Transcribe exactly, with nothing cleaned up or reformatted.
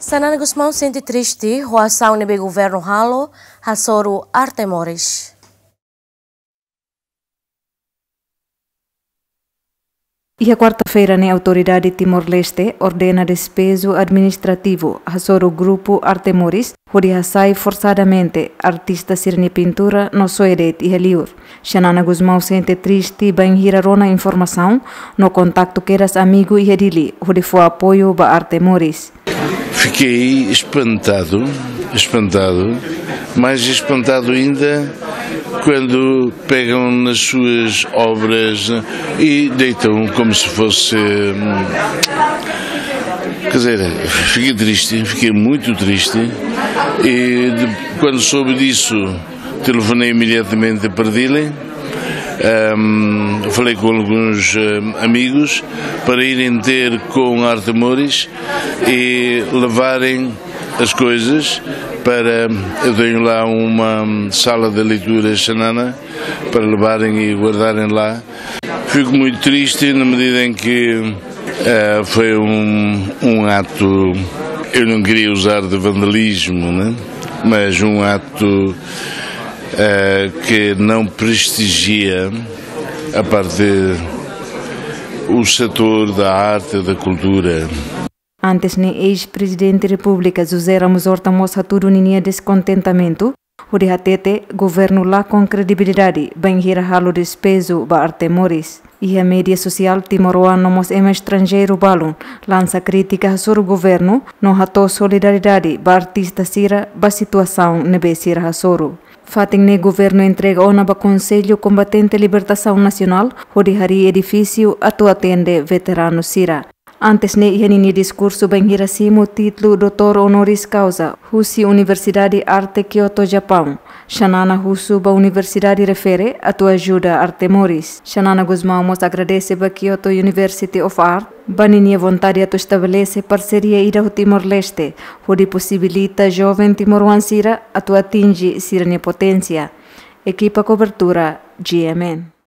Xanana Gusmão sente triste ho asaun ne'ebé governu halo hasoru Arte Moris. Iha kuarta-feira ne'e, Autoridade Timor-Leste ordena despeju administrativu hasoru grupu Arte Moris hodi hasai forsadamente artista sira-nia pintura no soe de'it iha liur. Xanana Gusmão sente triste bainhira rona informasaun no kontaktu kedas amigu iha Dili hodi fó apoiu ba Arte Moris. Fiquei espantado, espantado, mais espantado ainda quando pegam nas suas obras e deitam como se fosse, hum, quer dizer, fiquei triste, fiquei muito triste. E de-, quando soube disso, telefonei imediatamente para Dili. Ahm, falei com alguns, ahm, amigos para irem ter com Arte Moris e levarem as coisas para, eu tenho lá uma sala de leitura Xanana, para levarem e guardarem lá. Fico muito triste na medida em que, eh, foi um, um ato, eu não queria usar de vandalismo, né? Mas um ato, eh, que não prestigia a parte, o setor da arte, da cultura. Antes ne'e, eis-Prezidente Repúblika José Ramos Horta mós hatudu ninia deskontentamentu, hodi hatete governu lakon kredibilidade bainhira halo despeju ba Arte Moris. Iha média sosiál, timoroan no mós ema estranjeiru balun lansa krítika hasoru governu no hato'o solidariedade ba artista sira ba situasaun ne'ebé sira hasoru. Fatin ne'e governu entrega ona ba Konsellu Kombatente Libertasaun Nasionál hodi harii edifísiu atu atende veteranu sira. Antes ne'e, iha ninia diskursu bainhira simu títulu doutór honoris causa husi Universidade Arte Kyoto, Japaun, Xanana husu ba universidade refere atu ajuda Arte Moris. Xanana Gusmão mós agradese ba Kyoto University of Art ba ninia vontade atu estabelese parseria ida ho Timor-Leste, hodi posibilita joven timoroan sira atu atinje sira-nia poténsia. Ekipa kobertura, G M N.